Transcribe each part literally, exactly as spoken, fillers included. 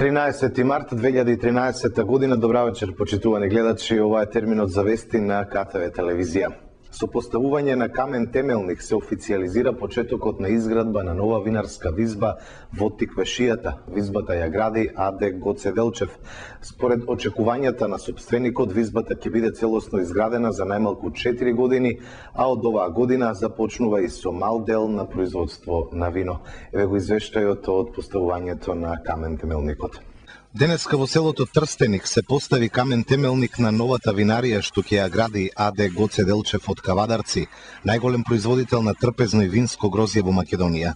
тринаесети март две илјади и тринаесета година. Добра вечер, почитувани гледачи. Ова е терминот за вести на К Т В телевизија. Со поставување на камен темелник се официализира почетокот на изградба на нова винарска визба во Тиквешијата. Визбата ја гради А Д Гоце Делчев. Според очекувањата на сопственикот, визбата ќе биде целосно изградена за најмалку четири години, а од оваа година започнува и со мал дел на производство на вино. Еве го извештајот од поставувањето на камен темелникот. Денеска во селото Трстеник се постави камен темелник на новата винарија што ќе ја гради А Д Гоце Делчев од Кавадарци, најголем производител на трпезно и винско грозје во Македонија.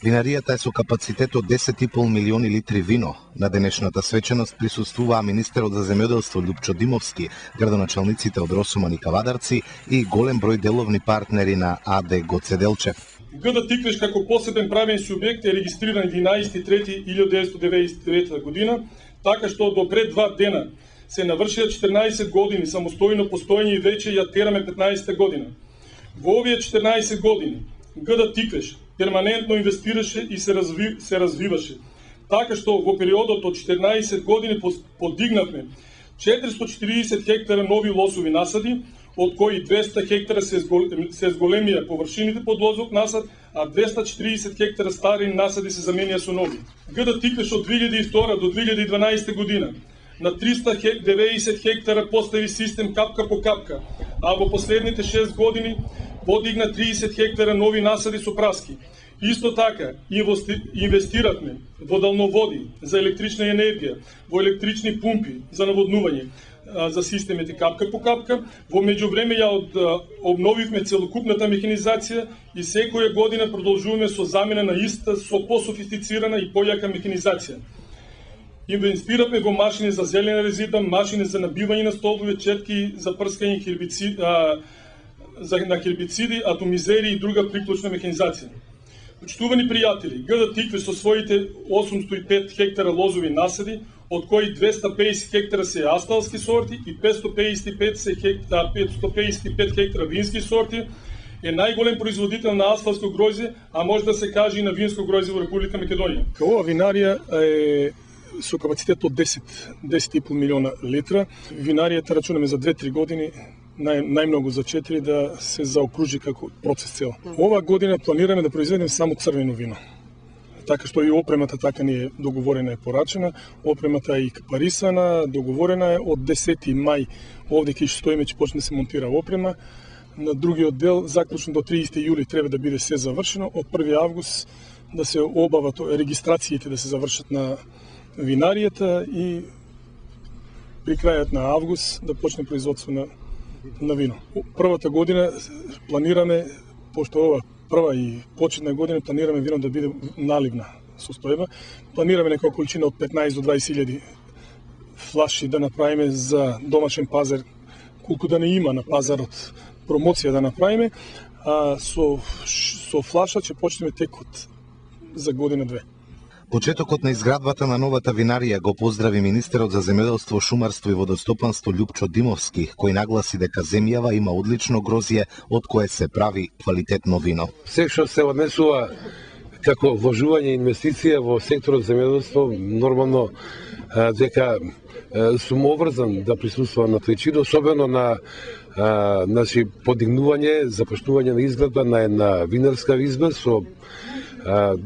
Винаријата е со капацитет од десет и пол милиони литри вино. На денешната свеченост присуствуваа министерот за земјоделство Љупчо Димовски, градоначалниците од Росуман и Кавадарци и голем број деловни партнери на А Д Гоце Делчев. Г Д Тиквеш како посебен правен субјект е регистриран единаесети трети илјада деветстотини деветдесет и девета година, така што до пред два дена се навршија четрнаесет години самостојно постоење и веќе ја тераме петнаесета година. Во овие четрнаесет години Г Д Тиквеш перманентно инвестираше и се, разви, се развиваше, така што во периодот од четрнаесет години подигнавме четиристотини и четиридесет хектара нови лозови насади, од кои двесте хектара се зголемија површините под лозов насад, а двесте и четиридесет хектара стари насади се заменија со нови. Г Д Тиквеш од две илјади и втора до две илјади и дванаесета година на триста и деветдесет хектара постави систем капка по капка, а во последните шест години подигна триесет хектара нови насади со праски. Исто така, инвестиравме во далноводи за електрична енергија, во електрични пумпи за наводнување, за системите капка по капка. Во меѓувреме ја од, обновивме целокупната механизација и секоја година продолжуваме со замена на иста со пософистицирана и појака механизација. Инвестиравме во машини за зелена резидба, машини за набивање на столбови, четки за прскање хербициди, а, за, на хербициди, атомизери и друга приклучна механизација. Почитувани пријатели, Г Д Тиквеш со своите осумстотини и пет хектара лозови насади, од кои двесте и педесет хектара се асталски сорти и петстотини педесет и пет хектара, петстотини педесет и пет хектара вински сорти, е најголем производител на асталско гројзе, а може да се каже и на винско гројзе во Република Македонија. Ова винарија е со капацитет од десет до десет и пол милиона литра. Винаријата рачунаме за две-три години, нај, најмногу за четири, да се заокружи како процес цел. Ова година планираме да произведеме само црвено вино. Така што и опремата така ни е договорена, е порачена, опремата е и капарисана, договорена е од десети мај, овде ќе стоиме, ќе почне да се монтира опрема. На другиот дел, заклучно до триесети јули треба да биде се завршено, од први август да се обава регистрациите да се завршат на винаријата и при крајот на август да почне производство на, на вино. Првата година планираме, пошто ова прва и почетна година, планираме вино да биде наливна состојба. Планираме некоја количина од петнаесет до дваесет илјади флаши да направиме за домашен пазар, колку да не има на пазарот, промоција да направиме, а со, со флаша ќе почнеме текот за година-две. Почетокот на изградбата на новата винарија го поздрави министерот за земјоделство, шумарство и водостопанство Љупчо Димовски, кој нагласи дека земјава има одлично грозје од кое се прави квалитетно вино. Се што се однесува како вложување инвестиција во секторот земјоделство, нормално дека сум обврзан да присуствувам на тој чин, особено на а, значи, подигнување, започнување на изградба на една винарска визба со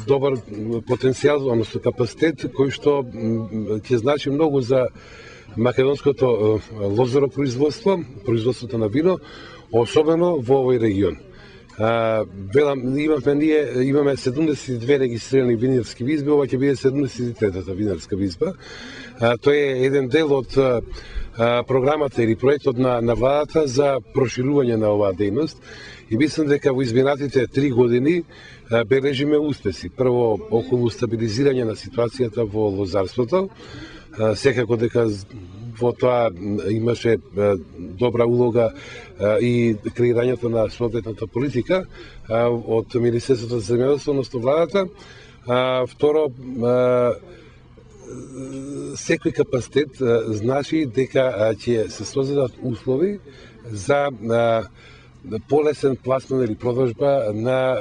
добар потенцијал, односно капацитет, кој што ќе значи многу за македонското лозоропроизводство, производството на вино, особено во овој регион. Велам, имаме ние имаме седумдесет и две регистрирани винарски визби, ова ќе биде седумдесет и третата винарска визба. Тој е еден дел од програмата или проектот на, на владата за проширување на оваа дејност и мислам дека во изминатите три години бележиме успеси. Прво, околу стабилизирање на ситуацијата во лозарството, секако дека во тоа имаше добра улога и креирањето на соодветната политика од Министерството за земјоделство, односно владата. Второ, секој капацитет значи дека ќе се создадат услови за полесен пласман или продажба на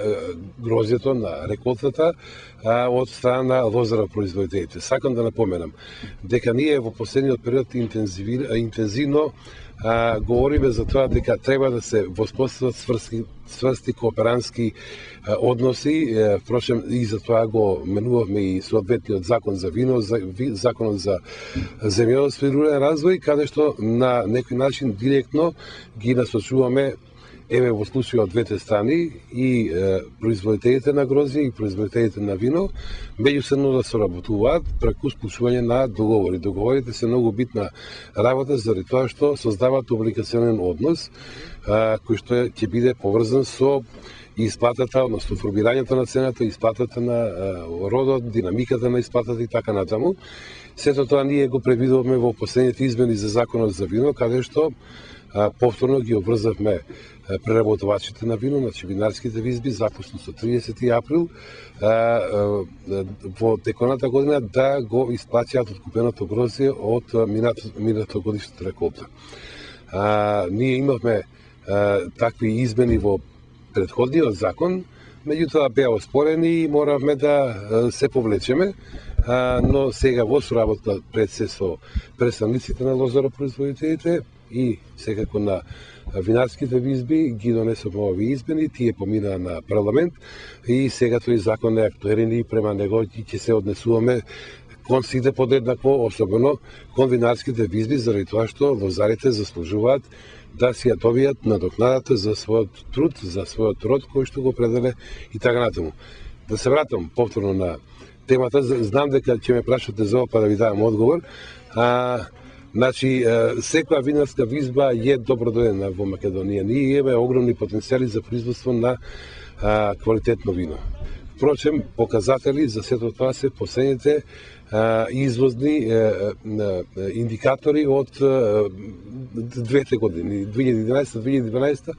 грозјето, на реколтата од страна на лозаропроизводителите. Сакам да напоменам дека ние во последниот период интензивно а, говориме за тоа дека треба да се воспостават сврски, сврсти кооперантски а, односи. Е, впрочем, и за тоа го менувавме и соодветниот закон за вино, за, ви, законот за земјоделство и рурален развој, каде што на некој начин директно ги насочуваме еве во случајот од двете страни и е, производителите на грозје и производителите на вино меѓусебно да соработуваат преку склучување на договори. Договорите се многу битна работа заради тоа што создаваат облигационен однос а, кој што ќе биде поврзан со исплатата, односно формирањето на цената, исплатата на а, родот, динамиката на исплатата и така натаму. Сето тоа ние го предвидуваме во последните измени за законот за вино, каде што а, повторно ги обврзавме преработувачите на вино, значи винарските визби, запусно со триесети април а, а, во теконата година да го исплаќаат откупеното грозје од минато годишната реколта. А, ние имавме а, такви измени во предходниот закон, меѓутоа беа оспорени и моравме да се повлечеме, а, но сега во соработа пред се со представниците на лозаропроизводителите и секако на винарските визби ги донесоме овие измени, тие поминаа на парламент и сега тој закон е актуелен и према него ќе се однесуваме кон сите подеднакво, особено кон винарските визби, заради тоа што лозарите заслужуваат да си ја добијат надокнадата за својот труд, за својот род кој што го пределе и така натаму. Да се вратам повторно на темата, знам дека ќе ме прашате за ова па да ви дадам одговор. А, Значи, секоја винарска визба е добродојдена во Македонија. Ние имаме огромни потенцијали за производство на а, квалитетно вино. Впрочем, показатели за сето тоа се последните а, извозни а, а, индикатори од а, двете години, две илјади и единаесета - две илјади и дванаесета,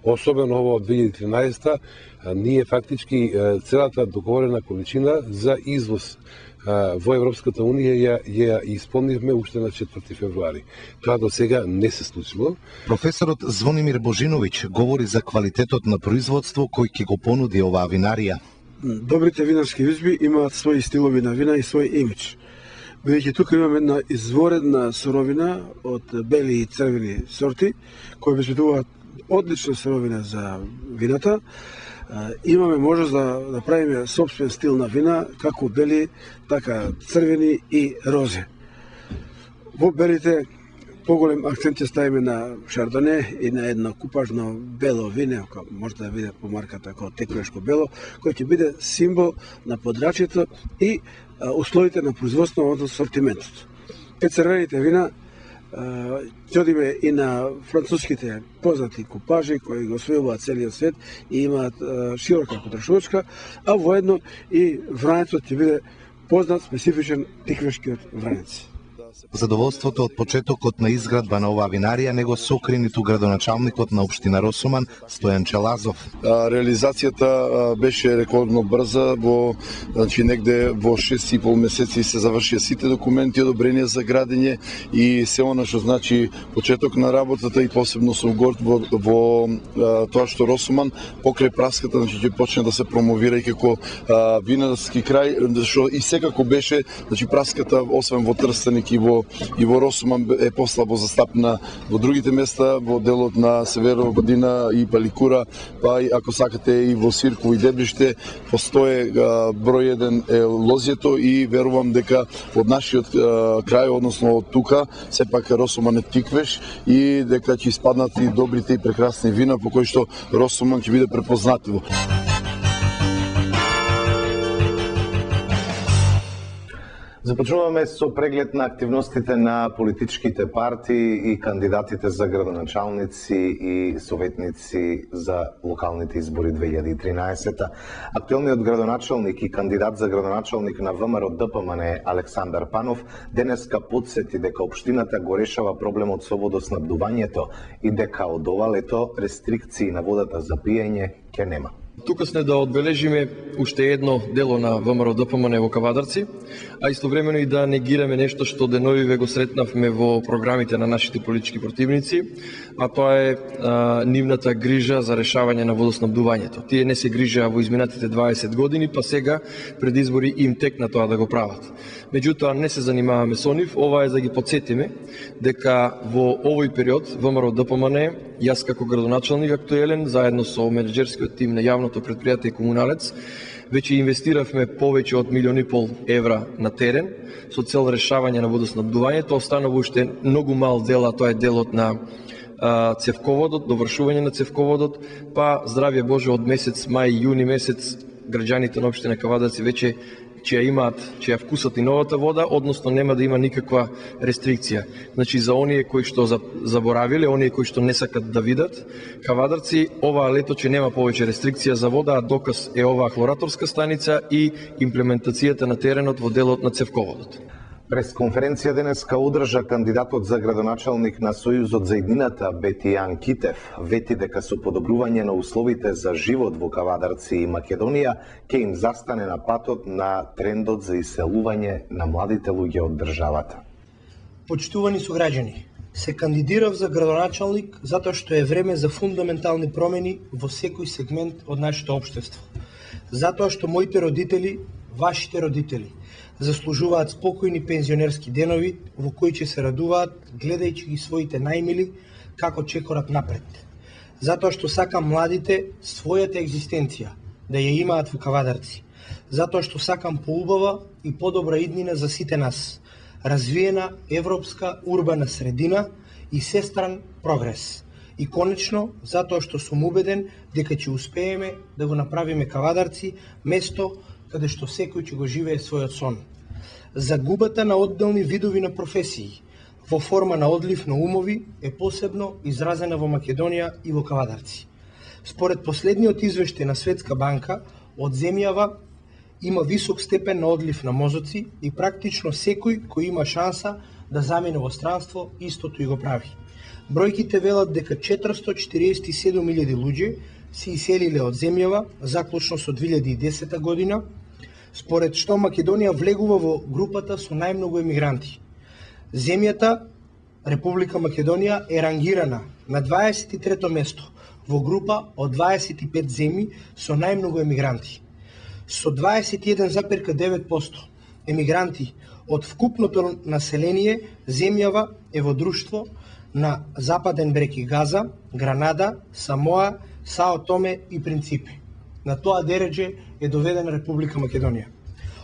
особено ово од две илјади и тринаесета, а, ние фактички а, целата договорена количина за извоз во Европската Унија ја, ја исполнивме уште на четврти февруари. Тоа до сега не се случило. Професорот Звонимир Божиновиќ говори за квалитетот на производство кој ќе го понуди оваа винарија. Добрите винарски визби имаат своји стилови на вина и свој имидж. Бидејќи тука имаме една изворедна суровина од бели и црвени сорти, кои обезбедуваат одлична суровина за вината. Имаме можност да направиме собствен стил на вина, како бели, така црвени и розе. Во белите поголем акцент ќе ставиме на шардоне и на едно купажно бело вино, може да биде по марката како текуешко бело, кој ќе биде символ на подрачјето и условите на производство од сортиментот. Пет црвените вина ќе одиме и на француските познати купажи кои го освојуваат целиот свет и имаат широка потрошувачка, а воедно и вранецот ќе биде познат специфичен тиквешкиот вранец. Задоволството од почетокот на изградба на оваа винарија него сокри ниту градоначалникот на општина Росуман Стојан Челазов. Реализацијата беше рекордно брза, во значи негде во шест и пол месеци се завршија сите документи одобрение за градење и се она што значи почеток на работата и посебно сум горд во, во тоа што Росуман покрај праската значи ќе почне да се промовира и како а, винарски крај, што и секако беше значи праската освен во Трстеник и во и во Росуман е послабо застапна во другите места, во делот на Северо Година и Паликура, па и ако сакате и во Сирково и Дебриште, постоje број еден е лозјето и верувам дека од нашиот крај, односно од тука, сепак Росуман е тиквеш и дека ќе испаднат и добрите и прекрасни вина по кои што Росуман ќе биде препознатливо. Започнуваме со преглед на активностите на политичките партии и кандидатите за градоначалници и советници за локалните избори две илјади и тринаесета. Актуелниот градоначалник и кандидат за градоначалник на ВМРО Д П М Н Александар Панов денеска потсети дека општината го решава проблемот со водоснабдувањето и дека од ова лето рестрикции на водата за пиење ќе нема. Тука сме да одбележиме уште едно дело на ВМРО Д П М Н во Кавадарци, а истовремено и да негираме нешто што деновиве го сретнавме во програмите на нашите политички противници, а тоа е а, нивната грижа за решавање на водоснабдувањето. Тие не се грижаа во изминатите дваесет години, па сега пред избори им текна тоа да го прават. Меѓутоа не се занимаваме со нив, ова е за да ги подсетиме дека во овој период ВМРО Д П М Н, јас како градоначалник актуелен, заедно со менеджерскиот тим на јавното предпријатие Комуналец, веќе инвестиравме повеќе од милион и пол евра на терен со цел решавање на водоснабдувањето. Останува уште многу мал дел, а тоа е делот на а, цевководот, довршување на цевководот, па здравје Боже од месец мај, јуни месец граѓаните на општина Кавадарци веќе ќе ја имаат, ќе ја вкусат и новата вода, односно нема да има никаква рестрикција. Значи за оние кои што заборавиле, оние кои што не сакат да видат, Кавадарци оваа лето ќе нема повеќе рестрикција за вода, а доказ е оваа хлораторска станица и имплементацијата на теренот во делот на цевководот. Прес конференција денеска одржа кандидатот за градоначалник на Сојузот за иднината Бетијан Китев. Вети дека со подобрување на условите за живот во Кавадарци и Македонија ќе им застане на патот на трендот за иселување на младите луѓе од државата. Почитувани сограѓани, се кандидирав за градоначалник затоа што е време за фундаментални промени во секој сегмент од нашето општество. Затоа што моите родители, вашите родители, заслужуваат спокојни пензионерски денови во кои ќе се радуваат гледајќи ги своите најмили како чекорат напред. Затоа што сакам младите својата екзистенција да ја имаат во Кавадарци. Затоа што сакам поубава и подобра иднина за сите нас. Развиена европска урбана средина и сестран прогрес. И конечно, затоа што сум убеден дека ќе успееме да го направиме Кавадарци место каде што секој ќе го живее својот сон. Загубата на одделни видови на професии во форма на одлив на умови е посебно изразена во Македонија и во Кавадарци. Според последниот извештај на Светска банка, од земјава има висок степен на одлив на мозоци и практично секој кој има шанса да замине во странство истото и го прави. Бројките велат дека четиристотини четириесет и седум илјади луѓе се иселиле од земјава заклучно со две илјади и десета година, според што Македонија влегува во групата со најмногу емигранти. Земјата, Република Македонија, е рангирана на дваесет и трето место во група од дваесет и пет земји со најмногу емигранти. Со дваесет и еден запир девет проценти емигранти од вкупното население, земјава е во друштво на Западен брег и Газа, Гранада, Самоа, Сао Томе и Принципи. На тоа дередже е доведена Република Македонија.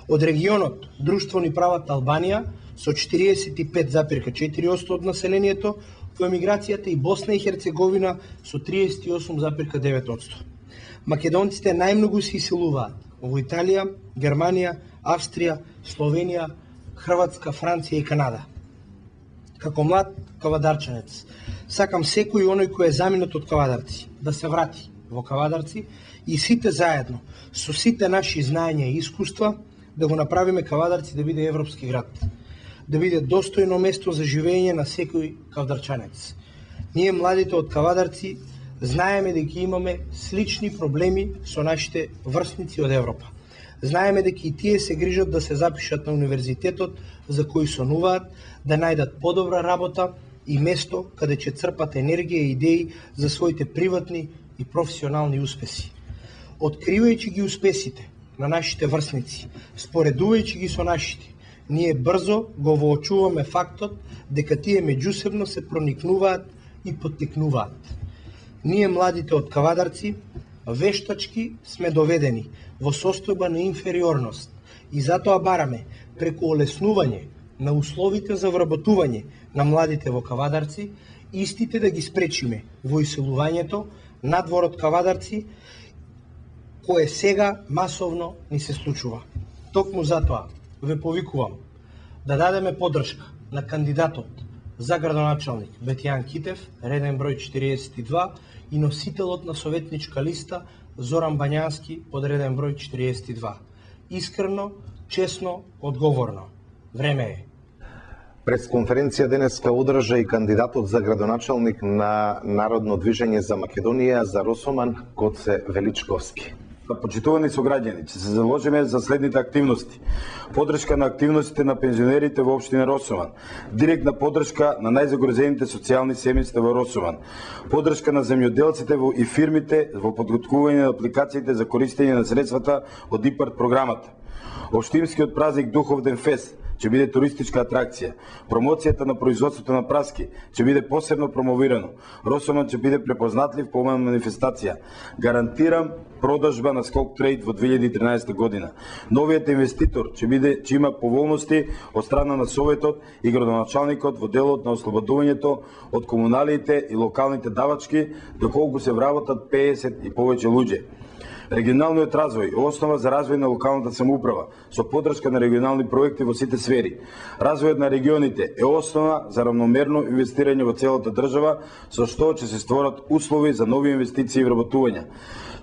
Од регионот Друштво ни прават Албанија со четириесет и пет запир четири проценти од населението, во емиграцијата и Босна и Херцеговина со триесет и осум запир девет проценти. Македонците најмногу се иселуваат во Италија, Германија, Австрија, Словенија, Хрватска, Франција и Канада. Како млад кавадарчанец, сакам секој оној кој е заминат од Кавадарци да се врати во Кавадарци и сите заедно, со сите наши знаења и искуства, да го направиме Кавадарци да биде европски град, да биде достојно место за живење на секој кавадарчанец. Ние, младите од Кавадарци, знаеме дека имаме слични проблеми со нашите врсници од Европа. Знаеме дека и тие се грижат да се запишат на универзитетот за кој сонуваат, да најдат подобра работа и место каде ќе црпат енергија и идеи за своите приватни и професионални успеси. Откривајќи ги успесите на нашите врсници, споредувајќи ги со нашите, ние брзо го воочуваме фактот дека тие меѓусебно се проникнуваат и поттикнуваат. Ние, младите од Кавадарци, вештачки сме доведени во состојба на инфериорност и затоа бараме преку олеснување на условите за вработување на младите во Кавадарци, истите да ги спречиме во иселувањето надвор од Кавадарци, кое сега масовно ни се случува. Токму затоа ве повикувам да дадеме поддршка на кандидатот за градоначалник Бетијан Китев, реден број четириесет и два, и носителот на советничка листа Зоран Бањански под реден број четириесет и два. Искрено, честно, одговорно. Време е. Пресконференција денеска одржа и кандидатот за градоначалник на Народно движење за Македонија за Росоман, Гоце Величковски. Почитувани сограѓани, ќе се заложиме за следните активности. Поддршка на активностите на пензионерите во општина Росоман, директна поддршка на најзагрозените социјални семејства во Росоман, поддршка на земјоделците и фирмите во подготвување на апликациите за користење на средствата од ИПАРД програмата. Општинскиот празник Духовден фест ќе биде туристичка атракција. Промоцијата на производството на праски ќе биде посебно промовирано. Росоман ќе биде препознатлив по оваа манифестација. Гарантирам продажба на Скок Трейд во две илјади и тринаесетта година. Новиот инвеститор ќе биде ќе има поволности од страна на Советот и градоначалникот во делот на ослободувањето од комуналите и локалните давачки, доколку се вработат пеесет и повеќе луѓе. Регионалниот развој е основа за развој на локалната самоуправа, со поддршка на регионални проекти во сите сфери. Развојот на регионите е основа за равномерно инвестирање во целата држава, со што ќе се створат услови за нови инвестиции и вработувања.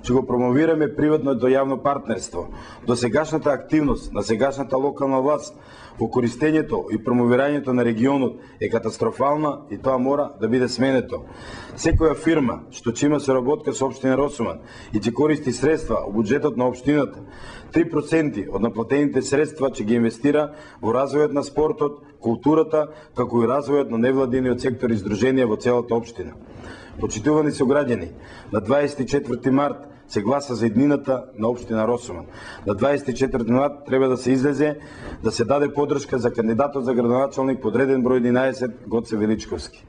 Ќе го промовираме приватното јавно партнерство. Досегашната активност на сегашната локална власт во користењето и промовирањето на регионот е катастрофална и тоа мора да биде сменето. Секоја фирма што ќе има соработка со општина Росоман и ќе користи средства од буџетот на општината, три проценти од наплатените средства ќе ги инвестира во развојот на спортот, културата, како и развојот на невладиниот сектор и здруженија во целата општина. Почитувани сограѓани, на дваесет и четврти март се гласа за иднината на општина Росоман. На дваесет и четврти март треба да се излезе, да се даде поддршка за кандидатот за градоначалник под реден број единаесет Гоце Величковски.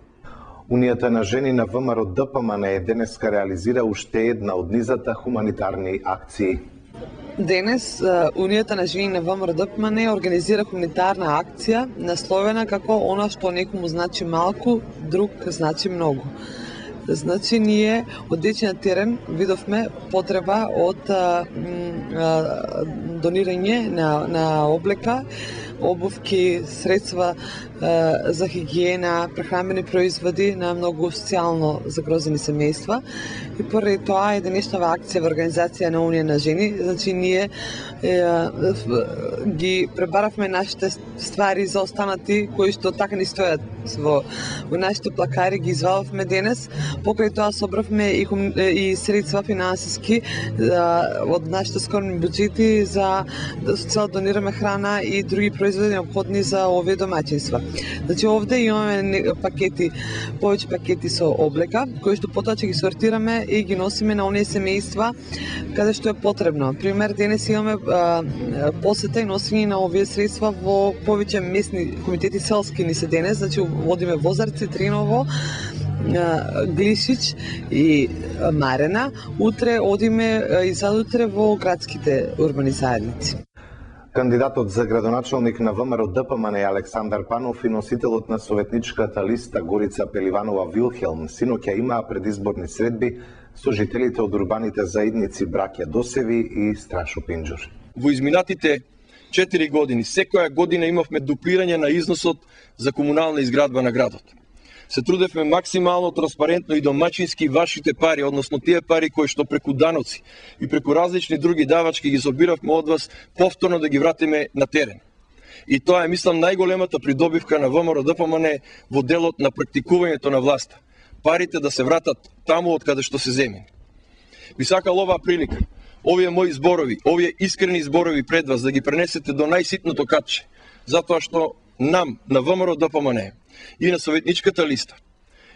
Унијата на жени на ВМРО ДПМН денеска реализира уште една од низата хуманитарни акции. Денес Унијата на жени на ВМРО ДПМН организира хуманитарна акција насловена како она што некому значи малку, друг значи многу. Значи, ние одејќи на терен видовме потреба од а, а, донирање на, на облека, обувки, средства а, за хигиена, прехранбени производи на многу социјално загрозени семејства. И поради тоа е денешнава акција во организација на Унија на жени. Значи, ние е, ги пребаравме нашите ствари за останати кои што така не стојат во, во нашите плакари, ги извадовме денес. Покрај тоа собравме и, хум, и средства финансиски а, од нашите скромни буџети за да со цел донираме храна и други производи неопходни за овие домаќинства. Значи овде имаме пакети, повеќе пакети со облека, кои што потоа ќе ги сортираме и ги носиме на оние семејства каде што е потребно. Пример, денес имаме а, посета и носење на овие средства во повеќе местни комитети селски ни се денес, значи водиме Возарци, Триново, Глишич и Марена. Утре одиме и задутре во градските урбани заедници. Кандидатот за градоначалник на ВМРО ДПМН Александар Панов и носителот на советничката листа Горица Пеливанова Вилхелм синоќа имаа предизборни средби со жителите од урбаните заедници Браќа Досеви и Страшо Пинџур. Во изминатите четири години, секоја година имавме дуплирање на износот за комунална изградба на градот. Се трудевме максимално транспарентно и домачински вашите пари, односно тие пари кои што преку даноци и преку различни други давачки ги собиравме од вас, повторно да ги вратиме на терен. И тоа е, мислам, најголемата придобивка на ВМРО ДПМН во делот на практикувањето на власта. Парите да се вратат таму од каде што се земени. Би сакал оваа прилика, овие мои зборови, овие искрени зборови пред вас да ги пренесете до најситното катче, затоа што нам, на ВМРО ДПМН и на советничката листа,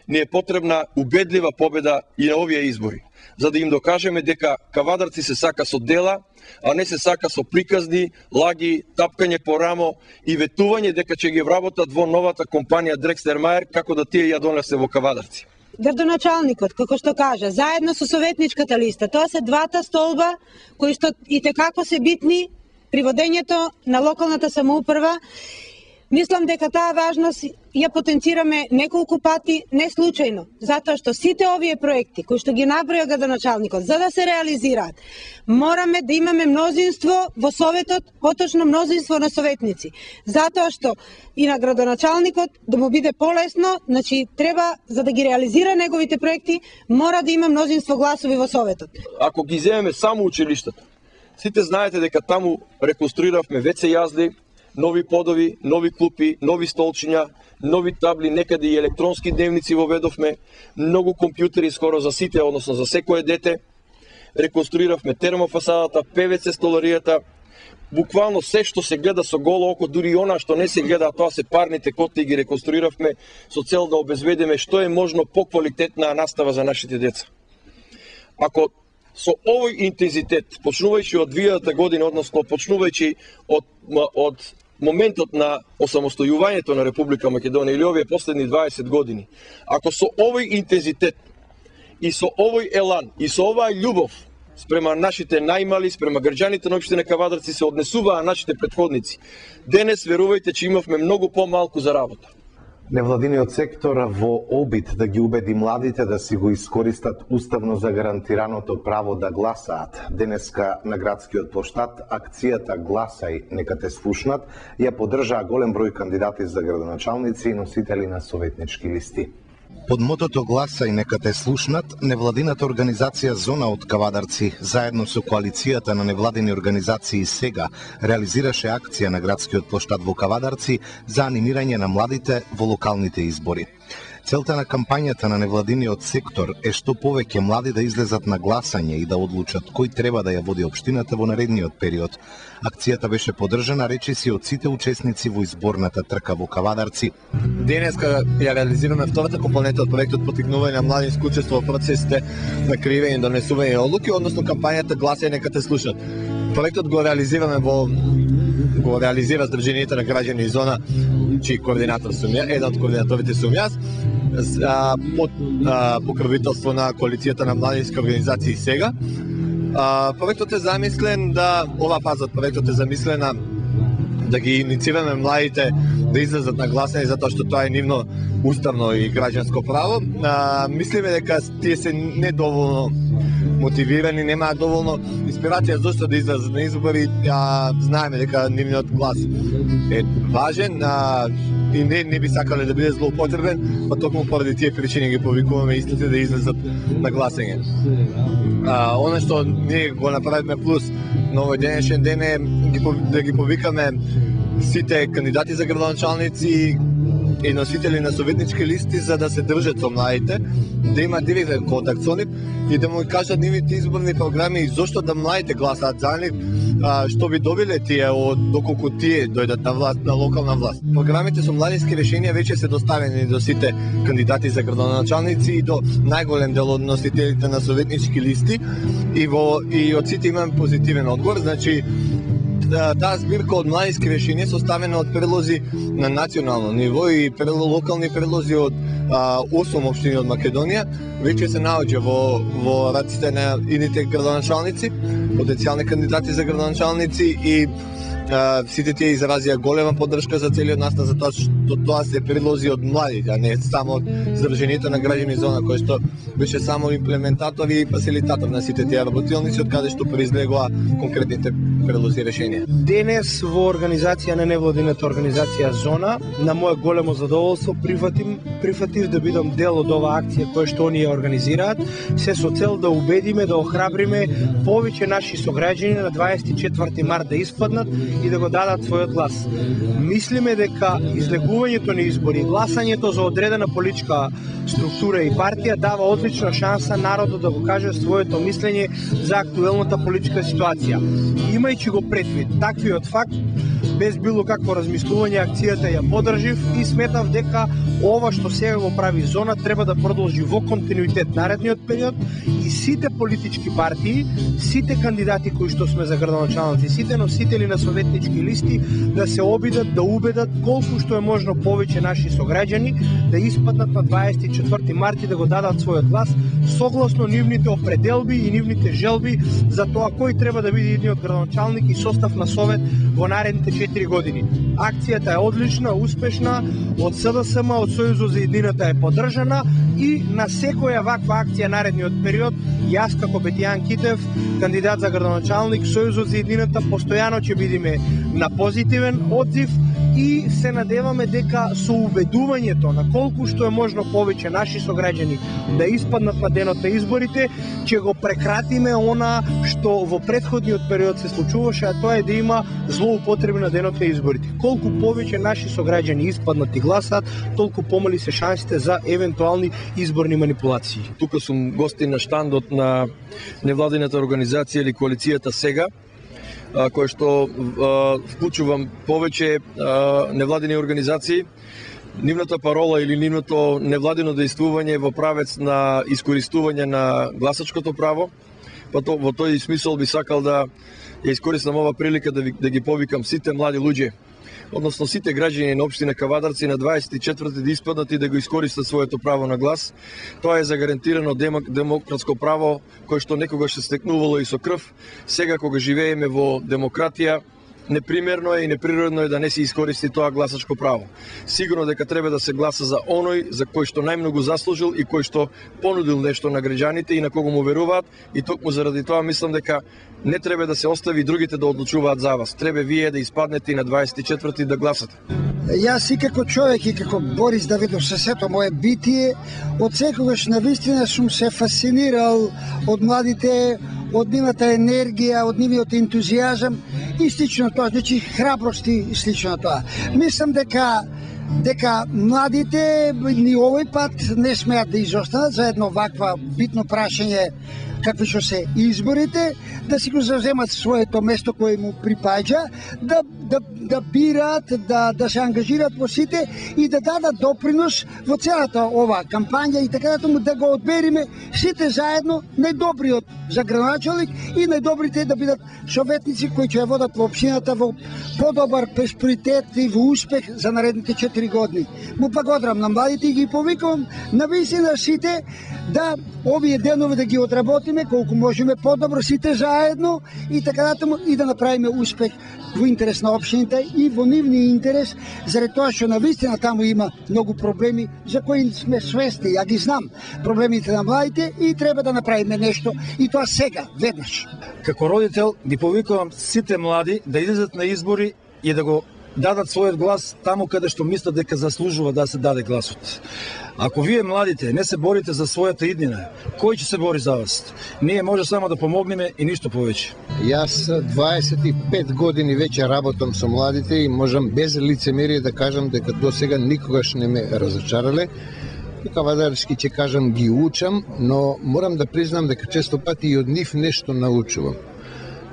ни е потребна убедлива победа и на овие избори, за да им докажеме дека кавадарци се сака со дела, а не се сака со приказни, лаги, тапкање по рамо и ветување дека ќе ги вработат во новата компанија Дрекстер-Мајер како да тие ја донесе во кавадарци. Градоначалникот, како што кажа, заедно со советничката листа, тоа се двата столба кои што и текако се битни при водењето на локалната самоуправа. Мислам дека таа важност ја потенцираме неколку пати, не случајно, затоа што сите овие проекти кои што ги наброја градоначалникот, за да се реализираат, мораме да имаме мнозинство во Советот, поточно мнозинство на советници. Затоа што и на градоначалникот да му биде полесно, значи треба, за да ги реализира неговите проекти, мора да има мнозинство гласови во Советот. Ако ги земеме само училиштата, сите знаете дека таму реконструиравме ве це јазди, нови подови, нови клупи, нови столчиња, нови табли, некаде и електронски дневници воведовме, многу компјутери скоро за сите, односно за секое дете. Реконструиравме термофасадата, певеце столаријата, буквално се што се гледа со голо око, дури и она што не се гледа, а тоа се парните котли, ги реконструиравме со цел да обезбедиме што е можно поквалитетна настава за нашите деца. Ако со овој интензитет, почнувајќи од две година, односно почнувајќи од, од моментот на осамостојувањето на Република Македонија или овие последни дваесет години, ако со овој интензитет и со овој елан и со оваа љубов спрема нашите најмали, спрема граѓаните на општина Кавадарци се однесуваа нашите претходници, денес верувајте че имавме многу помалку за работа. Невладиниот сектор во обид да ги убеди младите да си го искористат уставно загарантираното право да гласаат. Денеска на градскиот плоштад акцијата Гласај, нека те слушнат, ја поддржаа голем број кандидати за градоначалници и носители на советнички листи. Под мотото Гласај, нека те слушнат, невладината организација Зона од Кавадарци, заедно со коалицијата на невладини организации Сега, реализираше акција на градскиот плоштад во Кавадарци за анимирање на младите во локалните избори. Целта на кампањата на невладиниот сектор е што повеќе млади да излезат на гласање и да одлучат кој треба да ја води општината во наредниот период. Акцијата беше поддржана, речиси, од сите учесници во изборната трка во Кавадарци. Денеска ја реализираме втората компонента од проектот поттикнување на млади исклучество во процесите на креирање и донесување одлуки, односно кампањата Гласај, нека те слушат. Проектот го реализираме во го реализира Сдруженијето на граѓани и Зона, чиј координатор сум ја, еден од координаторите сум јас, под покровителство на коалицијата на младински организации Сега. Проектот е замислен да, ова фаза од проектот е замислена да ги инициираме младите да излезат на гласање, затоа што тоа е нивно уставно и граѓанско право. А, мислиме дека тие се недоволно мотивирани, немаат доволно инспирација зашто да излезат на избори, а знаеме дека нивниот глас е важен, а, и не, не би сакале да биде злоупотребен, па токму поради тие причини ги повикуваме истите да излезат на гласање. А, оно што ние го направиме плюс на овој денешен ден е да ги повикаме сите кандидати за градоначалници и носители на советнички листи за да се држат со младите, да има директен контакт со нив и да му кажат нивните изборни програми и зошто да младите гласаат за нив, што би добиле тие од доколку тие дојдат на власт, на локална власт. Програмите со младински решенија веќе се доставени до сите кандидати за градоначалници и до најголем дел од носителите на советнички листи и во и од сите имаме позитивен одговор, значи таа збирка од младински решенија составена од предлози на национално ниво и локални предлози од осум општини од Македонија веќе се наоѓа во во раците на идните градоначалници, потенцијални кандидати за градоначалници и а, сите тие изразија голема поддршка за целиот настан за тоа што тоа се предлози од младите, а не само од Сдруженијето на граѓани Зона, кој што беше само имплементатор и фасилитатор на сите тие работилници од каде што произлегоа конкретните предлози решенија. Денес во организација на невладината организација Зона, на моје големо задоволство прифатим прифатив да бидам дел од оваа акција која што оние организираат, се со цел да убедиме, да охрабриме повеќе наши сограѓани на дваесет и четврти март да испаднат и да го дадат својот глас. Мислиме дека излегувањето на избори, гласањето за одредена политичка структура и партија дава одлична шанса народот да го каже своето мислење за актуелната политичка ситуација. Имајќи го предвид таквиот факт, без било какво размислување, акцијата ја поддржив и сметав дека ова што сега го прави Зона треба да продолжи во континуитет наредниот период и сите политички партии, сите кандидати кои што сме за градоначалници, сите носители на советнички листи да се обидат да убедат колку што е можно повеќе наши сограѓани да испаднат на дваесет и четврти март и да го дадат својот глас согласно нивните определби и нивните желби за тоа кој треба да биде идниот градоначалник и состав на совет во наредните четири години. Акцијата е одлична, успешна, од СДСМ, од Сојузот за иднината е поддржана и на секоја ваква акција наредниот период, јас како Бетијан Китев, кандидат за градоначалник, Сојузот за иднината, постојано ќе бидеме на позитивен одзив и се надеваме дека со убедувањето на колку што е можно повеќе наши сограѓани да испаднат на денот на изборите, ќе го прекратиме она што во претходниот период се случуваше, а тоа е да има злоупотреби на денот на изборите. Колку повеќе наши сограѓани испаднат и гласаат, толку помали се шансите за евентуални изборни манипулации. Тука сум гостин на штандот на невладината организација или коалицијата Сега, кој што вклучувам повеќе невладини организации. Нивната парола или нивното невладино дејствување е во правец на искористување на гласачкото право. Па то, во тој смисол би сакал да ја искористам ова прилика да, ви, да ги повикам сите млади луѓе, односно сите граѓани на општина Кавадарци на дваесет и четврти да испаднат и да го искористат своето право на глас. Тоа е загарантирано демократско право кое што некогаш се стекнувало и со крв. Сега кога живееме во демократија, непримерно е и неприродно е да не се искористи тоа гласачко право. Сигурно дека треба да се гласа за оној за кој што најмногу заслужил и кој што понудил нешто на граѓаните и на кого му веруваат, и токму заради тоа мислам дека не треба да се остави другите да одлучуваат за вас. Треба вие да испаднете и на дваесет и четврти да гласате. Јас и како човек и како Борис Давидов со сето мое битие, од секогаш навистина сум се фасцинирал од младите, од нивната енергија, од нивниот ентузијазам и слично тоа, значи храбрости и слично тоа. Мислам дека дека младите ни овој пат не смеат да изостанат за едно ваква битно прашање какви што се изборите, да си го завземат своето место кое му припаѓа, да, да, да бираат, да, да се ангажираат во сите и да дадат допринос во целата ова кампања и така да да го одбериме сите заедно најдобриот за градоначалник и најдобрите да бидат советници кои ќе ја водат во општината во подобар просперитет и во успех за наредните четири години. Му погодрам на младите и ги повикувам на вистина сите да овие денови да ги одработиме колку можеме подобро сите заедно и така натаму и да направиме успех во интерес на општините и во нивниот интерес, заради тоа што навистина таму има многу проблеми за кои сме свесни, ја ги знам проблемите на младите и треба да направиме нешто и тоа сега, веднаш. Како родител ги повикувам сите млади да излезат на избори и да го дадат својот глас таму каде што мислат дека заслужува да се даде гласот. Ако вие младите не се борите за својата иднина, кој ќе се бори за вас? Ние може само да помогнеме и ништо повеќе. Јас дваесет и пет години веќе работам со младите и можам без лицемерие да кажам дека до сега никогаш не ме разочарале. Кавадарски ќе кажам ги учам, но морам да признам дека често пати и од нив нешто научувам.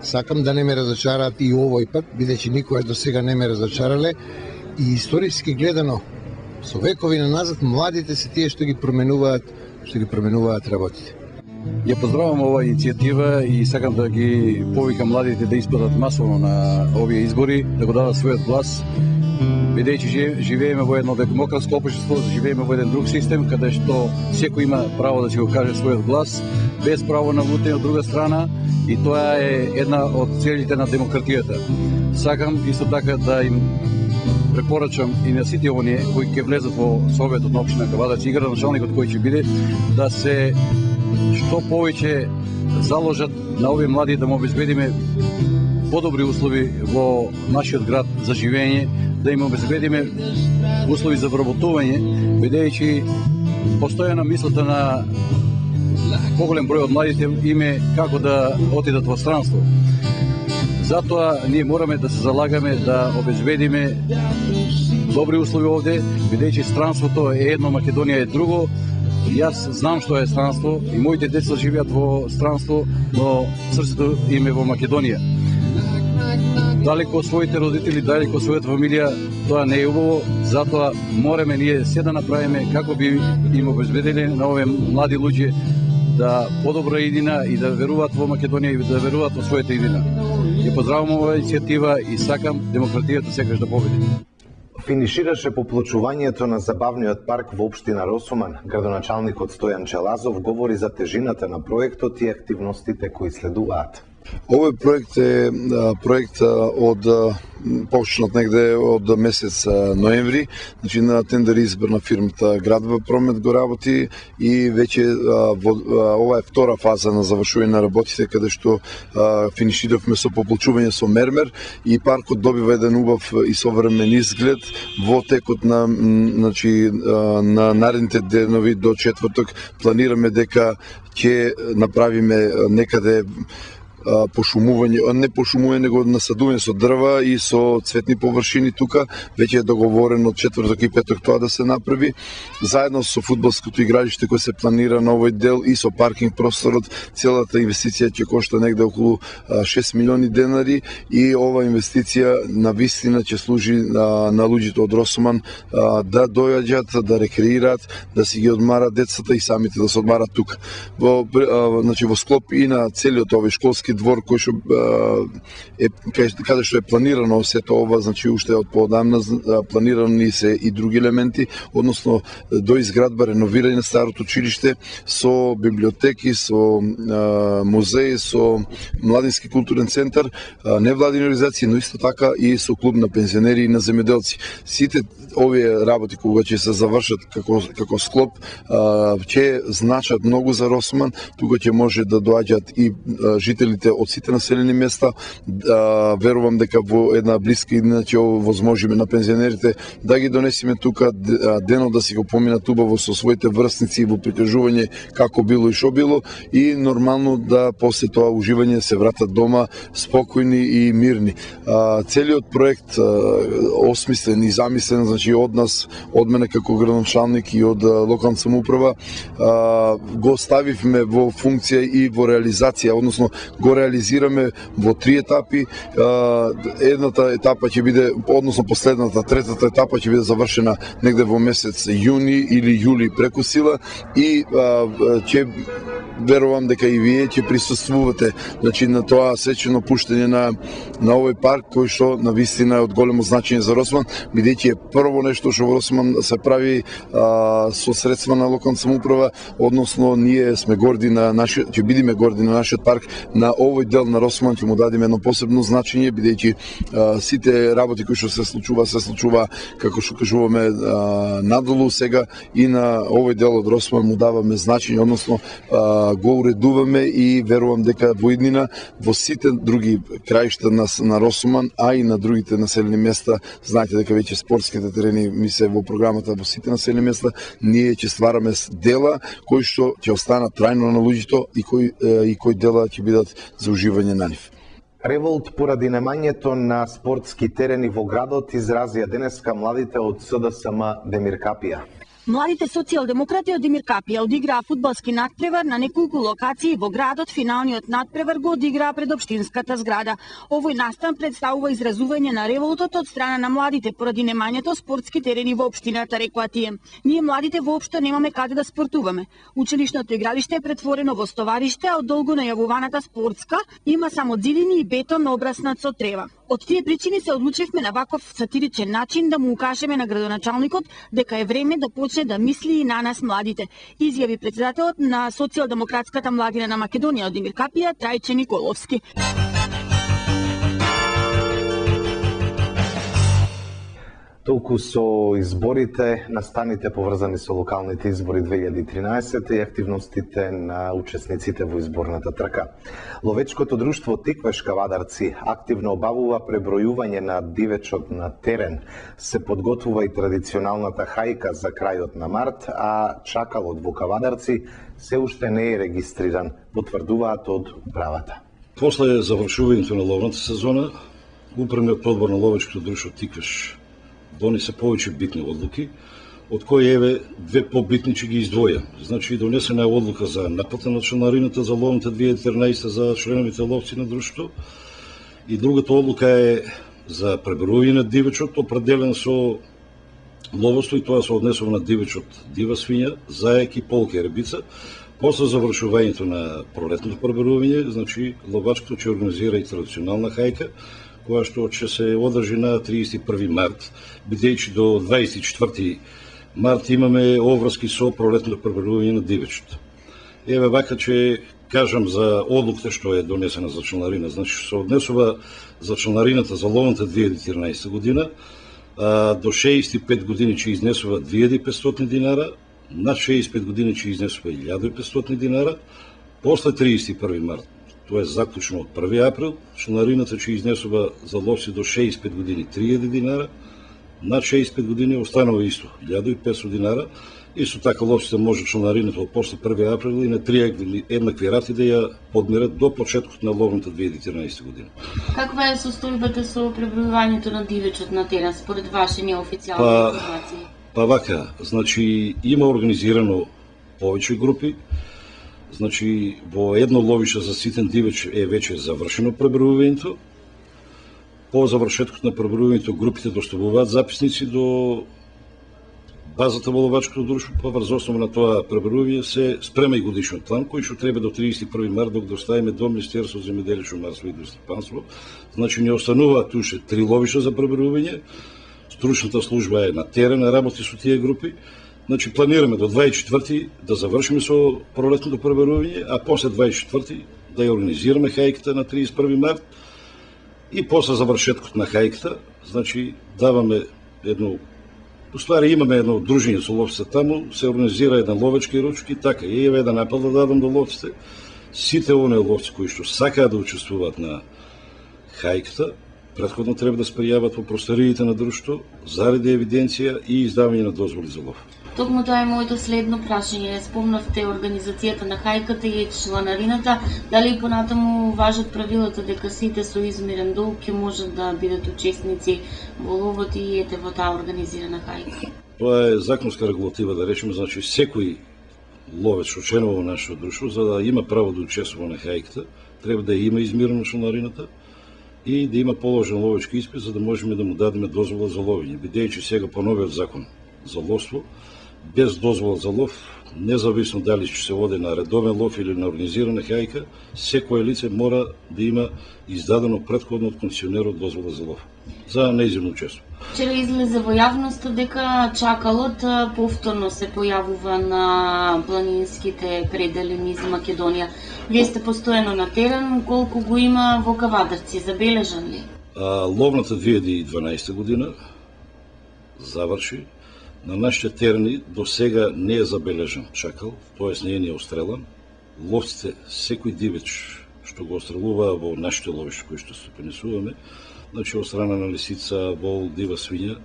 Сакам да не ме разочараат и овој пат, бидејќи никогаш до сега не ме разочарале и историски гледано со векови назад младите се тие што ги променуваат, што ги променуваат работите. Ја поздравувам оваа иницијатива и сакам да ги повикам младите да испадат масово на овие избори, да го дадат својот глас, бидејќи живееме во едно демократско општество, живееме во еден друг систем каде што секој има право да си го каже својот глас, без право на лутење од друга страна, и тоа е една од целите на демократијата. Сакам исто така да им препорачам и на сите оние кои ќе влезат во Советот на општина Кавадарци и градоначалникот кој ќе биде, да се што повеќе заложат на овие млади да му обезбедиме подобри услови во нашиот град за живење, да им обезбедиме услови за вработување, бидејќи постојана мислата на поголем број од младите име како да отидат во странство. Затоа ние мораме да се залагаме да обезбедиме добри услови овде, бидејќи странството е едно, Македонија е друго. Јас знам што е странство и моите деца живеат во странство, но срцето им е во Македонија. Далеко од своите родители, далеко од својата фамилија, тоа не е убаво, затоа мораме ние се да направиме како би им обезбедили на овие млади луѓе да подобра иднина и да веруваат во Македонија и да веруваат во својата иднина. Ја поздравувам оваа иницијатива и сакам демократијата секогаш да победи. Финишираше поплочувањето на забавниот парк во општина Росуман. Градоначалникот Стојан Челазов говори за тежината на проектот и активностите кои следуваат. Овој проект е проект од почнат негде од месец ноември, значи на тендер избор на фирмата Градба Промет го работи и веќе ова е втора фаза на завршување на работите каде што финиширавме со пополчување со мермер и паркот добива еден убав и современ изглед во текот на значи на наредните денови до четврток планираме дека ќе направиме некаде пошумување, не пошумување, него насадување со дрва и со цветни површини тука, веќе е договорено од четврток и петок тоа да се направи, заедно со фудбалското игралиште кој се планира на овој дел и со паркинг просторот, целата инвестиција ќе кошта негде околу шест милиони денари и ова инвестиција на вистина ќе служи на, на луѓето од Росоман да дојаѓат, да рекреираат, да си ги одмарат децата и самите да се одмарат тука. Во, значи, во склоп и на целиот овој школски двор кој што е каде што е планирано сето ова, значи уште од поодамна планирани се и други елементи, односно до изградба, реновирање на старото училиште со библиотеки, со музеи, со младински културен центар, невладини организации, но исто така и со клуб на пензионери и на земјоделци. Сите овие работи кога ќе се завршат како како склоп ќе значат многу за Росман, тука ќе може да доаѓаат и жителите од сите населени места. Верувам дека во една блиска иднина ќе овозможиме на пензионерите да ги донесеме тука денот да си го поминат убаво со своите врсници во прикажување како било и шо било и нормално да после тоа уживање се вратат дома спокојни и мирни. Целиот проект осмислен и замислен, значи од нас, од мене како градоначалник и од локална самоуправа, го ставивме во функција и во реализација, односно го реализираме во три етапи. Едната етапа ќе биде, односно последната, третата етапа ќе биде завршена негде во месец јуни или јули преку сила и ќе верувам дека и вие ќе присуствувате, значи на тоа сечено пуштање на на овој парк кој што на вистина е од големо значење за Росман, бидејќи е прво нешто што во Росман се прави а, со средства на локална самоуправа, односно ние сме горди на нашиот, ќе бидеме горди на нашиот парк, на овој дел на Росман ќе му дадеме едно посебно значење, бидејќи сите работи кои што се случува се случува како што кажуваме а, надолу сега и на овој дел од Росман му даваме значење, односно а, го уредуваме и верувам дека во иднина во сите други краишта на, на Росман, а и на другите населени места, знаете дека веќе спортските терени ми се во програмата во сите населени места, ние ќе ствараме дела кои што ќе останат трајно на луѓето и кои и кои дела ќе бидат за уживање на нив. Револт поради немањето на спортски терени во градот изразија денеска младите од С Д С М Демир Капија. Младите социјалдемократи од Демир Капија одиграа фудбалски натпревар на неколку локации во градот. Финалниот натпревар го одиграа пред општинската зграда. Овој настан представува изразување на револтот од страна на младите поради немањето спортски терени во општината, рекоа тие. Ние младите воопшто немаме каде да спортуваме. Училишното игралиште е претворено во стовариште, а од долго најавуваната спортска има само зидини и бетон обраснат со трева. Од тие причини се одлучивме на ваков сатиричен начин да му укажеме на градоначалникот дека е време да почне да мисли и на нас младите, изјави председателот на Социјалдемократската младина на Македонија од Демир Капија, Трајче Николовски. Толку со изборите, настаните поврзани со локалните избори две илјади и тринаесетта и активностите на учесниците во изборната трка. Ловечкото друштво Тиквеш Кавадарци активно обавува пребројување на дивечот на терен. Се подготвува и традиционалната хајка за крајот на март, а чакалот во Кавадарци се уште не е регистриран, потврдуваат од управата. После завршувањето на ловната сезона, управниот одбор на Ловечкото друштво Тиквеш донесе повеќе битни одлуки, од кои еве две побитни ќе ги издвоја. Значи донесена е одлука за наплата на членарината за ловната две илјади и тринаесетта за членовите ловци на друштвото и другата одлука е за пребројување на дивечот определен со ловоство и тоа се однесува на дивечот дива свиња, заек и полка и рибица. После завршувањето на пролетното пребројување, значи ловачкото ќе организира и традиционална хајка, која што ќе се одржи на триесет и први март, бидејќи до дваесет и четврти март имаме обврски со пролетното пребројување на дивечот. Еве вака че кажам за одлуката што е донесена за членарина. Значи, се однесува за членарината за ловната две илјади и тринаесетта година, а, до шеесет и пет години ќе изнесува две илјади и петстотини динара, над шеесет и пет години ќе изнесува илјада и петстотини динара, после триесет и први март, тоа е заклучно од први април, членарината ќе изнесува за ловци до шеесет и пет години три илјади динара, над шеесет и пет години останува исто илјада и петстотини динара. Исто така ловците може членарината од после први април и на три еднакви рати да ја подмерат до почетокот на ловната две илјади и тринаесетта година. Каква е состојбата со пребројувањето на дивечот на терен според ваши неофицијални па, информации? Па вака, значи има организирано повеќе групи. Значи во едно ловище за ситен дивеч е веќе завршено пребројувањето. По завршеткот на пребројувањето групите доставуваат записници до базата во ловачкото друштво, па врз основа на тоа пребројување се спрема и годишен план кој што треба до триесет и први март да го доставиме до Министерството за земјоделие, шумарство и идростопанство. Значи не остануваат уште три ловишта за пребројување. Стручната служба е на терен, работи со тие групи. Значи планираме до дваесет и четврти да завршиме со пролетното пребројување, а после дваесет и четврти да ја организираме хајката на триесет и први март и после завршеткот на хајката, значи даваме едно Уствари имаме едно дружење со ловците таму, се организира еден ловечки ручки, така и еве еден апел да дадам до ловците. Сите оние ловци кои што сакаат да учествуваат на хајката, претходно треба да се пријават во просториите на друштвото заради евиденција и издавање на дозволи за лов. Токму тоа е моето следно прашање. Спомнавте организацијата на хајката и чланарината. Дали понатаму важат правилата дека сите со измерен долг ќе можат да бидат учесници во ловот и ете во таа организирана хајка? Тоа е законска регулатива, да речеме, значи секој ловец што членува во нашето друштво, за да има право да учествува на хајката, треба да има измерено членарината и да има положен ловечки испит за да можеме да му дадеме дозвола за ловење. Бидејќи сега по новиот закон за ловство, без дозвола за лов, независно дали ќе се води на редовен лов или на организирана хајка, секое лице мора да има издадено претходно од концесионерот дозвола за лов за неизмерно учество. Вчера излезе во јавноста дека чакалот повторно се појавува на планинските предели низ Македонија. Вие сте постојано на терен, колку го има во Кавадарци, забележан ли? А, ловната две илјади и дванаесетта година заврши. На нашите терени до сега не е забележан чакал, тоест не е ни острелан. Ловците, секој дивеч што го острелува во нашите ловишта кои што се пренесуваме, значи од страна на лисица, вол, дива свиња,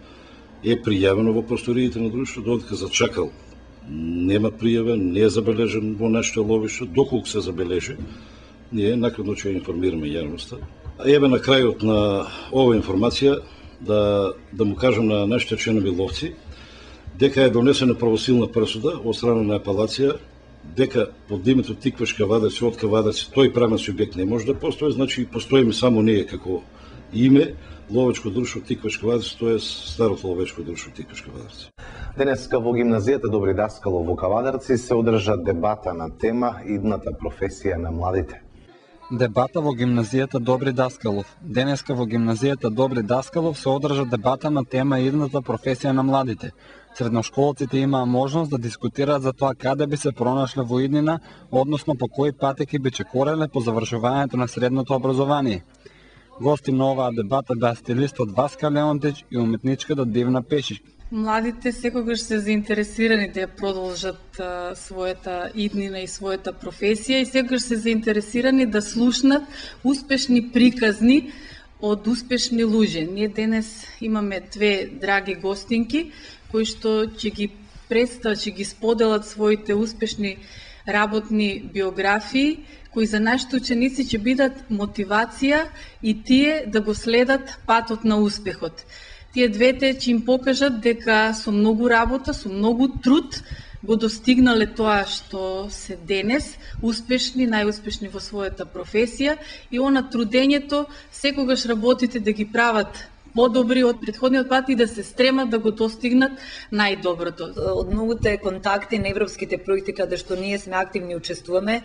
е пријавено во просториите на друштвото, додека за чакал нема пријава, не е забележен во нашите ловишта, доколку се забележи, ние накратно ќе информираме јавноста. Еве на крајот на ова информација да, да му кажам на нашите членови ловци, дека е донесена правосилна пресуда од страна на апелација, дека под името Тикваш Кавадарци, од Кавадарци, тој правен субјект не може да постои, значи постоиме само ние како име, ловечко друштво Тикваш Кавадарци, тоа е старото ловечко друштво Тикваш Кавадарци. Денеска во гимназијата Добри Даскалов во Кавадарци се одржа дебата на тема идната професија на младите. Дебата во гимназијата Добри Даскалов. Денеска во гимназијата Добри Даскалов се одржа дебата на тема идната професија на младите. Средношколците имаа можност да дискутираат за тоа каде би се пронашле во иднина, односно по кои патеки би чекореле по завршувањето на средното образование. Гости на оваа дебата беа стилистот Васка Леонтич и уметничката Дивна Пешич. Младите секогаш се заинтересирани да ја продолжат а, својата иднина и својата професија и секогаш се заинтересирани да слушнат успешни приказни од успешни луѓе. Ние денес имаме две драги гостинки кои што ќе ги представат, ќе ги споделат своите успешни работни биографии, кои за нашите ученици ќе бидат мотивација и тие да го следат патот на успехот. Тие двете ќе им покажат дека со многу работа, со многу труд го достигнале тоа што се денес, успешни, најуспешни во својата професија и она трудењето, секогаш работите да ги прават подобри од претходниот пат и да се стремат да го достигнат најдоброто. Од многуте контакти на европските проекти каде што ние сме активни учествуваме,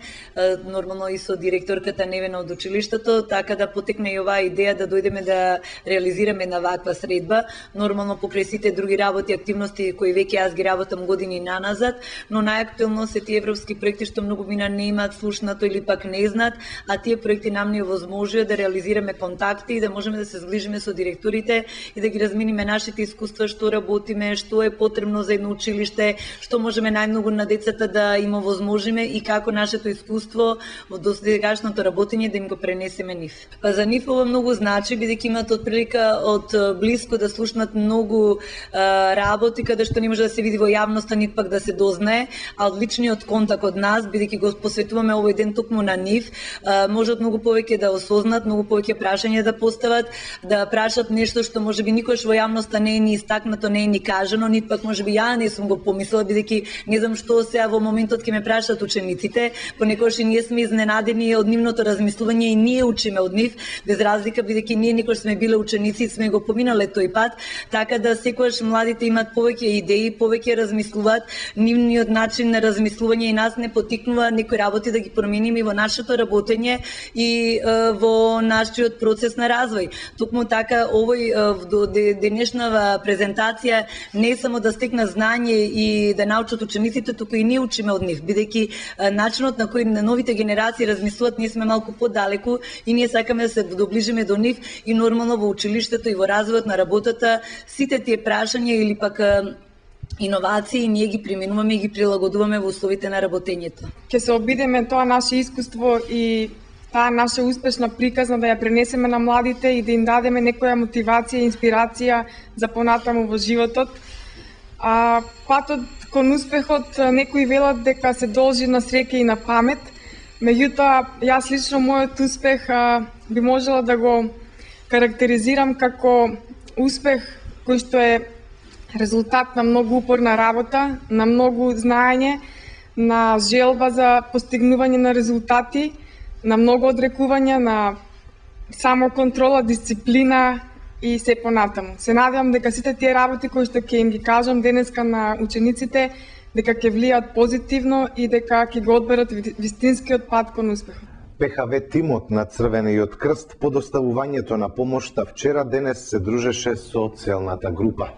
нормално и со директорката Невена од училиштето, така да потекне и оваа идеја да дојдеме да реализираме на ваква средба. Нормално покрај сите други работи, активности кои веќе јас ги работам години наназад, но најактуелно се тие европски проекти што многу мина не имаат слушнато или пак не знаат, а тие проекти нам ни овозможува да реализираме контакти и да можеме да се зглижиме со директорите и да ги размениме нашите искуства, што работиме, што е потребно за едно училиште, што можеме најмногу на децата да им овозможиме и како нашето искуство во досегашното работење да им го пренесеме нив. Па за нив ова многу значи, бидејќи имаат од прилика од блиско да слушнат многу а, работи каде што не може да се види во јавноста, нит пак да се дознае, а од личниот контакт од нас, бидејќи го посветуваме овој ден токму на нив, а, можат многу повеќе да осознат, многу повеќе прашања да постават, да прашат нешто што можеби никош во јавноста не е ни истакнато, не е ни кажано, нит пак можеби ја не сум го помислила, бидејќи не знам што сега во моментот ќе ме прашаат учениците, понекогаш и ние сме изненадени од нивното размислување и ние учиме од нив, без разлика бидејќи ние никош сме биле ученици и сме го поминале тој пат, така да секогаш младите имаат повеќе идеи, повеќе размислуваат, нивниот начин на размислување и нас не потикнува некои работи да ги промениме во нашето работење и е, во нашиот процес на развој. Токму така овој до денешнава презентација не е само да стекна знање и да научат учениците, туку и ние учиме од нив, бидејќи начинот на кој на новите генерации размислуваат, ние сме малку подалеку и ние сакаме да се доближиме до нив и нормално во училиштето и во развојот на работата сите тие прашања или пак иновации ние ги применуваме и ги прилагодуваме во условите на работењето. Ќе се обидеме тоа наше искуство и таа наша успешна приказна да ја пренесеме на младите и да им дадеме некоја мотивација и инспирација за понатаму во животот. А патот кон успехот некои велат дека се должи на среќа и на памет. Меѓутоа, јас лично мојот успех а, би можела да го карактеризирам како успех кој што е резултат на многу упорна работа, на многу знаење, на желба за постигнување на резултати, на многу одрекување, на самоконтрола, дисциплина и се понатаму. Се надевам дека сите тие работи кои што ќе им ги кажам денеска на учениците, дека ќе влијат позитивно и дека ќе го одберат вистинскиот пат кон успехот. ПХВ тимот на Црвениот крст по доставувањето на помошта вчера денес се дружеше со целната група.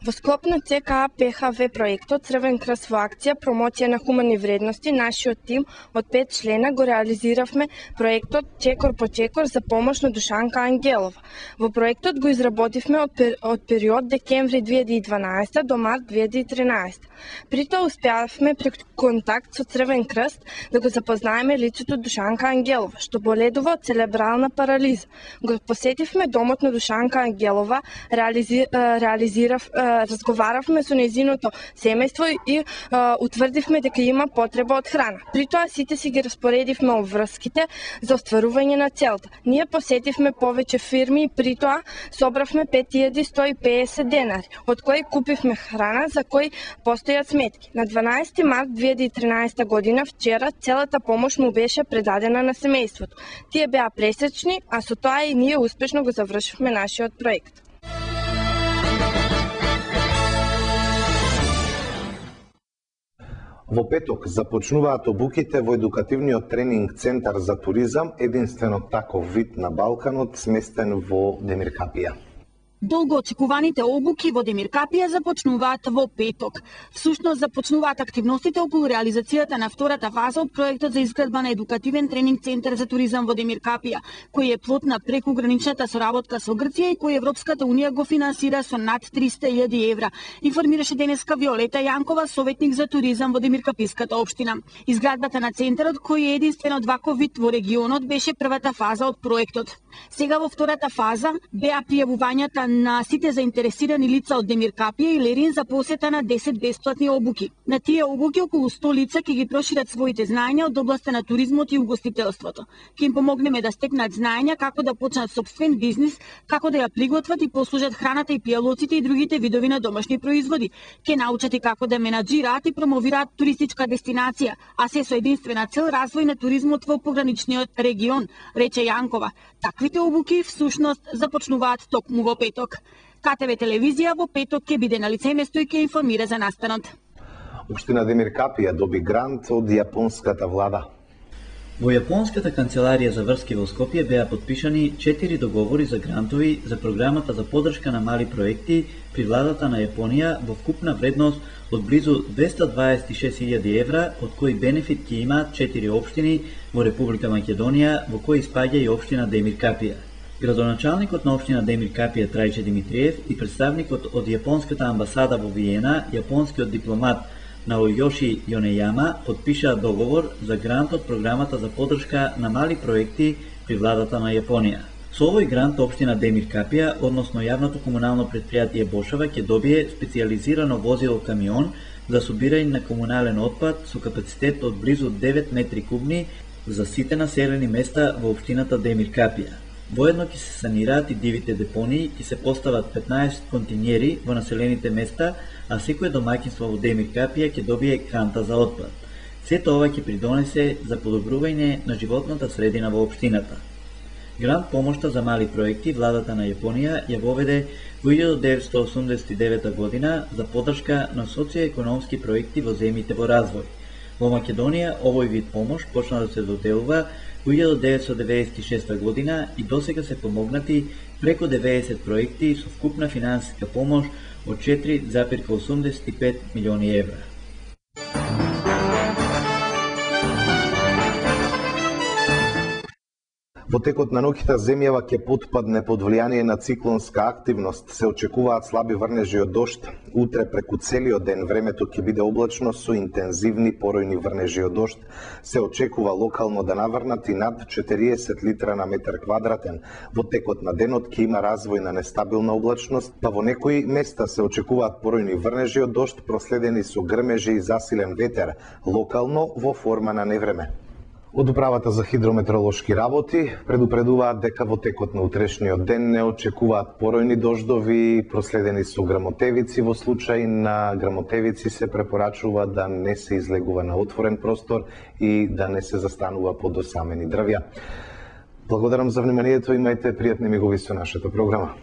Во склоп на ЦКА ПХВ проектот Црвен крст во акција промоција на хумани вредности, нашиот тим од пет члена го реализиравме проектот Чекор по чекор за помош на Душанка Ангелова. Во проектот го изработивме од, пер, од период декември две илјади и дванаесета до март две илјади и тринаесета. При тоа успеавме пред контакт со Црвен крст да го запознаеме лицето Душанка Ангелова, што боледува од церебрална парализа. Го посетивме домот на Душанка Ангелова, реализи, реализирав разговаравме со нејзиното семејство и а, утврдивме дека има потреба од храна. При тоа сите си ги распоредивме обврските за остварување на целта. Ние посетивме повеќе фирми и при тоа собравме пет илјади сто и педесет денари, од кои купивме храна за кои постојат сметки. На дванаесети март две илјади и тринаесета година вчера целата помош му беше предадена на семејството. Тие беа пресечни, а со тоа и ние успешно го завршивме нашиот проект. Во петок започнуваат обуките во едукативниот тренинг центар за туризам, единствено таков вид на Балканот, сместен во Демиркапија. Долго очекуваните обуки во Демиркапија започнуваат во петок. Всушност започнуваат активностите околу реализацијата на втората фаза од проектот за изградба на едукативен тренинг центар за туризам во Демиркапија, кој е плод на прекуграничната соработка со Грција и кој Европската унија го финансира со над триста илјади евра, информираше денеска Виолета Јанкова, советник за туризам во Демиркаписката општина. Изградбата на центарот, кој е единствен од ваков вид во регионот, беше првата фаза од проектот. Сега во втората фаза беа пријавувањата на сите заинтересирани лица од Демиркапија и Лерин за посета на десет бесплатни обуки. На тие обуки околу сто лица ќе ги прошират своите знаења од областа на туризмот и угостителството. Ќе им помогнеме да стекнат знаења како да почнат сопствен бизнис, како да ја приготват и послужат храната и пијалоците и другите видови на домашни производи. Ќе научат и како да менаџираат и промовираат туристичка дестинација, а се со единствена цел развој на туризмот во пограничниот регион, рече Јанкова. Таквите обуки всушност започнуваат токму во петок. петок. КТВ телевизија во петок ќе биде на лице место и ќе информира за настанот. Општина Демир Капија доби грант од јапонската влада. Во Јапонската канцеларија за врски во Скопје беа потпишани четири договори за грантови за програмата за поддршка на мали проекти при владата на Јапонија во вкупна вредност од близу двеста дваесет и шест илјади евра, од кои бенефит ќе имаат четири општини во Република Македонија, во кои спаѓа и општина Демир Капија. Градоначалникот на општина Демир Капија Трајче Димитриев и представникот од Јапонската амбасада во Виена, јапонскиот дипломат Наојоши Јонејама подпишаа договор за грант од програмата за поддршка на мали проекти при владата на Јапонија. Со овој грант општина Демир Капија, односно јавното комунално предпријатие Бошава, ќе добие специјализирано возило камион за собирање на комунален отпад со капацитет од близу девет метри кубни за сите населени места во општината Демир Капија. Воедно ќе се санираат и дивите депонии, ќе се постават петнаесет континери во населените места, а секое домаќинство во Демир Капија ќе добие канта за отпад. Сето ова ќе придонесе за подобрување на животната средина во општината. Грант помошта за мали проекти владата на Јапонија ја воведе во илјада деветстотини осумдесет и девета година за поддршка на социјоекономски проекти во земјите во развој. Во Македонија овој вид помош почна да се доделува во илјада деветстотини деветдесет и шеста година и досега се помогнати преку деветдесет проекти со вкупна финансиска помош од четири зарез осумдесет и пет милиони евра. Во текот на ноќта земјава ќе потпадне под влијание на циклонска активност. Се очекуваат слаби врнежи од дожд. Утре преку целиот ден времето ќе биде облачно со интензивни поројни врнежи од дожд. Се очекува локално да наврнат и над четириесет литра на метар квадратен. Во текот на денот ќе има развој на нестабилна облачност, па во некои места се очекуваат поројни врнежи од дожд проследени со грмежи и засилен ветер, локално во форма на невреме. Од Управата за хидрометеоролошки работи предупредуваат дека во текот на утрешниот ден не очекуваат поројни дождови проследени со грмотевици. Во случај на грмотевици се препорачува да не се излегува на отворен простор и да не се застанува под осамени дрвја. Благодарам за вниманието, имајте пријатни мигови со нашата програма.